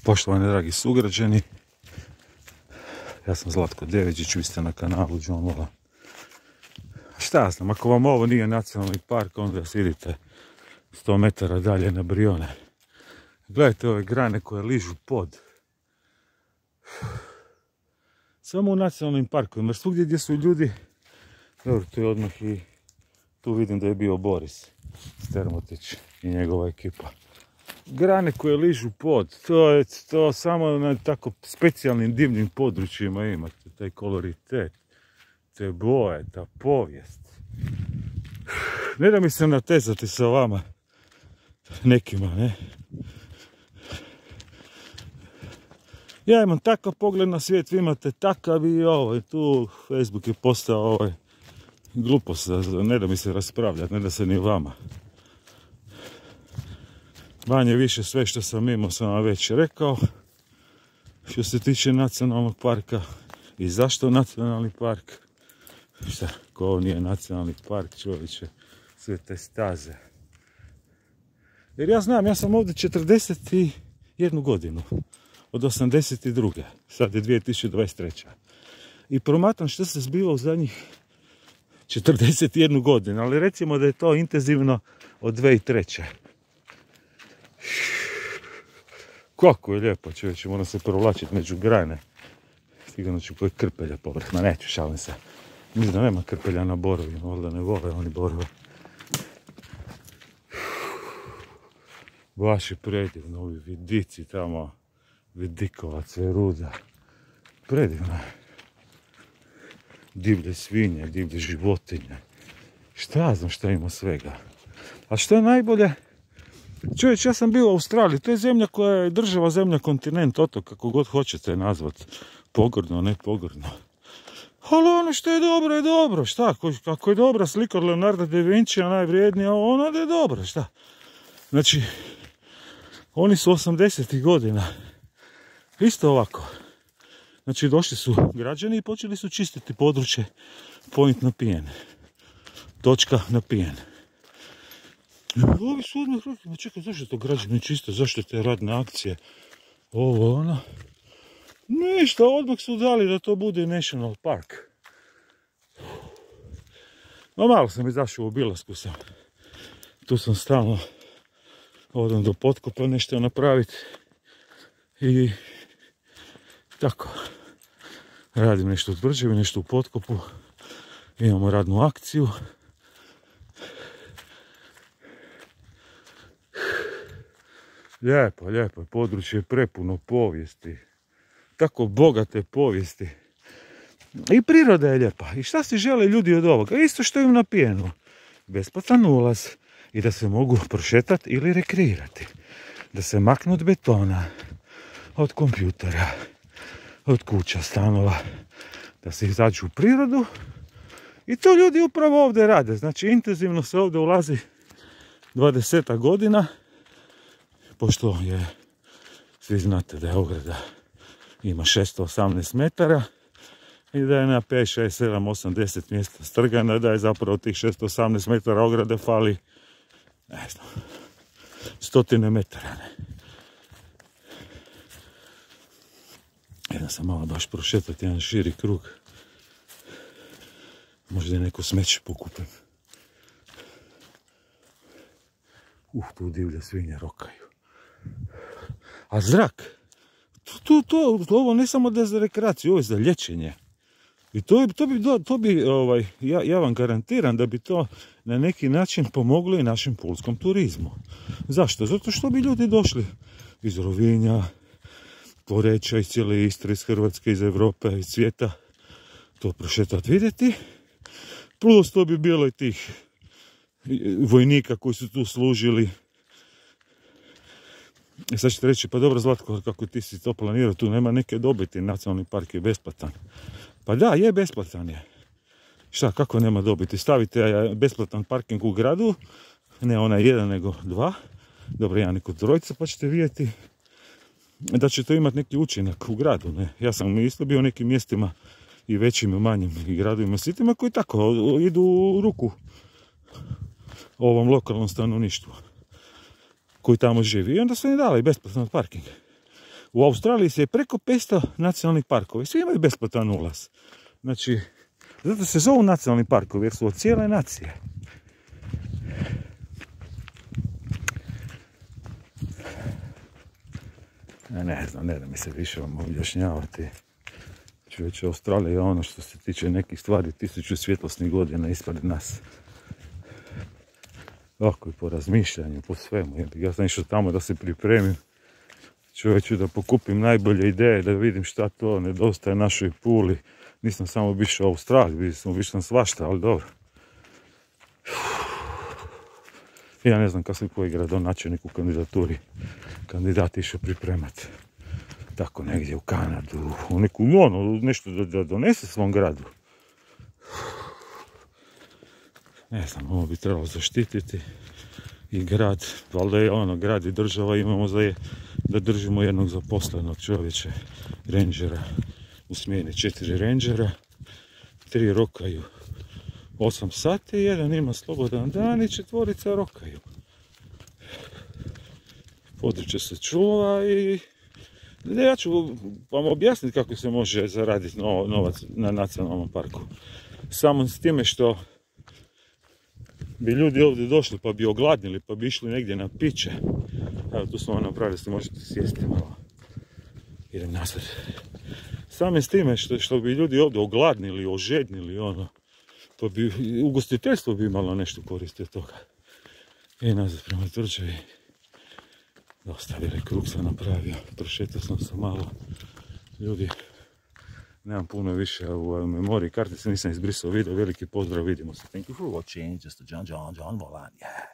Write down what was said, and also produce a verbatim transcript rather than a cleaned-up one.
Poštovani dragi sugrađani, ja sam Zlatko Deviđić, vi ste na kanalu John Vola. Šta ja znam, ako vam ovo nije nacionalni park, onda idite sto metara dalje na Brione. Gledajte ove grane koje ližu pod. Samo u nacionalnim parkovima, jer svugdje gdje su ljudi, dobro, tu je odmah i tu vidim da je bio Boris Strmotić i njegova ekipa. Grane koje ližu pod, to je to samo na tako specijalnim divnim područjima imate, taj koloritet, te boje, ta povijest. Ne da mi se natezati sa vama, nekima, ne? Ja imam takav pogled na svijet, vi imate takav i ovaj, tu Facebook je postao ovaj, glupost, ne da mi se raspravljati, ne da se ni vama. Manje više sve što sam imao sam vam već rekao. Što se tiče nacionalnog parka i zašto nacionalni park. Šta, ko ovo nije nacionalni park, čovječe, sve te staze. Jer ja znam, ja sam ovdje četrdeset jednu godinu. Od osamdeset druge. Sad je dvije tisuće dvadeset treća. I promatram što se zbiva u zadnjih četrdeset jednu godinu. Ali recimo da je to intenzivno od dvije tisuće treće. Kako je lijepo, čovječe, moram se provlačiti među grane. Sigurno ću koji krpelja povrh, ma neću, šalim se. Mislim da nema krpelja na borovima, valjda ne vole oni borove. Baš je predivno, ovi vidici tamo, vidikovac je ruda. Predivno je. Divlje svinje, divlje životinje. Šta ja znam šta ima svega. A što je najbolje? Čovječ, ja sam bio u Australiji, to je zemlja koja je država, zemlja, kontinent, otok, kako god hoćete nazvat. Pogrdno, ne pogrdno. Ali ono što je dobro je dobro, šta? Ako je dobra slika od Leonarda da Vincija, najvrijednija, ona da je dobra, šta? Znači, oni su osamdesetih godina. Isto ovako. Znači, došli su građani i počeli su čistiti područje Point na pijen. Točka na pijen. Ovi su odmah rekli, ma čekaj, zašto to građani čiste, zašto te radne akcije, ovo, ono. Ništa, odmah su dali da to bude National Park. No malo sam izašao u obilasku sam. Tu sam stalno, odem do potkopa nešto napraviti. I tako, radim nešto u tvrđevi, nešto u potkopu. Imamo radnu akciju. Lijepo, lijepo, područje je prepuno povijesti. Tako bogate povijesti. I priroda je lijepa. I šta si žele ljudi od ovoga? Isto što im na pijenu. Besplatan ulaz. I da se mogu prošetati ili rekreirati. Da se maknu od betona. Od kompjutera. Od kuća, stanova. Da se izađu u prirodu. I to ljudi upravo ovdje rade. Znači intenzivno se ovdje ulazi dvadeset godina. Pošto je, svi znate da je ograda ima šesto osamnaest metara i da je na pet, šest, sedam, osam, deset mjesta strgana, da je zapravo tih šesto osamnaest metara ograde fali, ne znam, stotine metara. Ne. Jedan sam malo baš prošetati jedan širi krug. Možda je neko smeće pokupim. Uh, tu divlje svinje rokaju. A zrak, to, to, to, ovo ne samo da je za rekreaciju, ovo je za liječenje. I to, to bi, to bi ovaj, ja, ja vam garantiram da bi to na neki način pomoglo i našem pulskom turizmu. Zašto? Zato što bi ljudi došli iz Rovinja, Poreča, iz cijele Istre, iz Hrvatske, iz Europe, iz svijeta, to prošetati, vidjeti. Plus to bi bilo i tih vojnika koji su tu služili. I sad ćete reći, pa dobro Zlatko, kako ti si to planirao, tu nema neke dobiti, nacionalni park je besplatan. Pa da, je besplatan je. Šta, kako nema dobiti? Stavite besplatan parking u gradu, ne onaj jedan nego dva, dobro jedan nego trojica, pa ćete vidjeti da će to imati neki učinak u gradu. Ne? Ja sam isto bio u nekim mjestima i većim i manjim i gradovima, sitima koji tako idu u ruku ovom lokalnom stanovništvu koji tamo živi. I onda su im dali besplatan parking. U Australiji se je preko petsto nacionalnih parkova i svi imaju besplatan ulaz. Znači, zato se zovu nacionalni parkovi jer su od cijele nacije. Ja ne znam, ne da mi se više vam objašnjavati. Čovječe, Australija je ono što se tiče nekih stvari tisuću svjetlosnih godina ispred nas. Ovako i po razmišljanju, po svemu. Ja sam išao tamo da se pripremim. Čovječe, da pokupim najbolje ideje, da vidim šta to nedostaje našoj Puli. Nisam samo bišao u Australiji, vidio sam više svašta, ali dobro. Ja ne znam kako se koji gradonačelnik u kandidaturi kandidat išao pripremati. Tako negdje u Kanadu, u neku ono, nešto da, da donese svom gradu. Ne znam, ovo bi trebalo zaštititi i grad, valjda je ono, grad i država imamo za je, da držimo jednog zaposlenog čovječa, rangera, u smjeni četiri rangera, tri rokaju osam sati, jedan ima slobodan dan i četvorica rokaju. Područje se čuva i ja ću vam objasniti kako se može zaraditi novac na nacionalnom parku. Samo s time što bi ljudi ovdje došli pa bi ogladnili, pa bi išli negdje na piće. Evo tu smo vam napravili, se možete sjesti malo. Idem nazad. Samo s time što, što bi ljudi ovdje ogladnili, ožednili, ono, pa bi ugostiteljstvo bi imalo nešto koristiti od toga. I nazad prema tvrđavi. Dosta velik krug sam napravio, prošetao sam se malo. Ljudi, nemam puno više u memoriji, kartice nisam izbrisao video, veliki pozdrav, vidimo se. Thank you for watching, just a John John John Volan, yeah.